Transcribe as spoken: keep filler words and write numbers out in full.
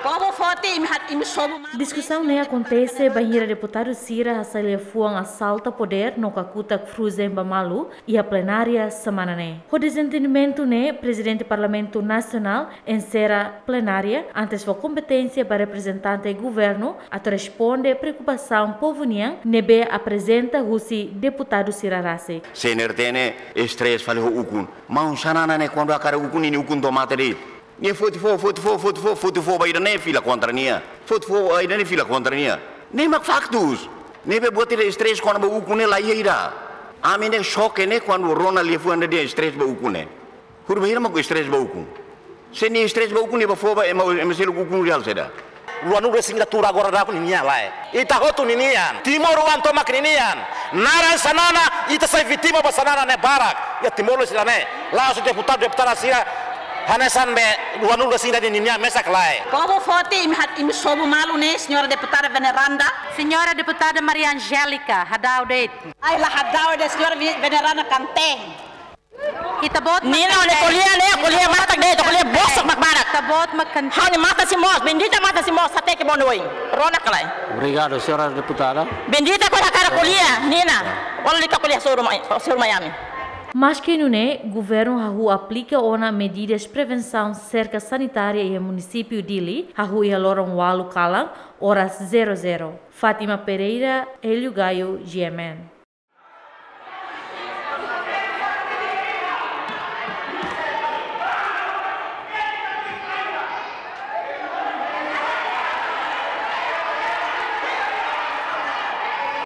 Povu foti, imi hat, imi sobu malu. Diskusaun ne'e akontese bainhira deputadu sira hasai liafuan asalta podér no kakutak fujen ba malu iha plenária semana ne'e. Ho dezentendimentu ne'e, Prezidente Parlamentu Nasionál enserra plenária antes fó kompeténsia ba reprezentante governu atu responde preokupasaun povu nian ne'ebé aprezenta husi deputadu sira rasik. CNRT ne'e estrés fali ho ukun. Maun Xanana ne'e kuandu hakarak ukun, ninia ukun to'o mate de'it. Nia foti fo'o, foti fo'o, foti fo'o, foti fo'o ba ida-ne'e fila kontra nia. Foti fo'o ba ida-ne'e fila kontra nia. Ne'e mak faktus. Ne'ebé buat ida estrés kona-ba ukun ne'e la iha ida. Ami ne'e xoke ne'e kuandu rona liafuan ida dehan estrés ba ukun ne'e. Horibainhira mak estrés ba ukun. Se nia estrés ba ukun, nia bá fó ba ema, ema seluk ukun reál saida. Ruanulu-resin-ida tuur agora daudaun ninia lae. Ita hotu ninian. Timoroan tomak ninian. Naran Xanana, ita sai vítima ba Xanana ne'e barak. Iha Timor-Leste ida-ne'e. La'ós deputadu, deputada sira hanesan be ruanulu-resin-ida ninian mesak lae. Povu foti, imi hat, imi sobu malu ne'e, Señora Deputada Veneranda. Señora Deputada Maria Angélica, hadau de'it. Ai, la hadau de'it, Señora Vi-, Veneranda Kanteng. Ita-boot mak Nina, ne'e ko'alia ne'e, ko'alia matak de'it, ko'alia bosok mak barak. Ita-boot mak Kanteng. Ha'u-nia matan sei moos, Bendita matan sei moos, hateke ba oin. Rona ka lae. Obrigadu, señora deputada. Bendita kuandu hakarak ko'alia, Nina. Ó lalika ko'alia, soru mai, soru mai ami. Maski nune'e, governu hahú aplika ona medidas prevensaun serka sanitária iha munisípiu Dili, hahú iha loron ualu kalan, oras zero zero. Fátima Pereira, Hélio Gaio, G M N.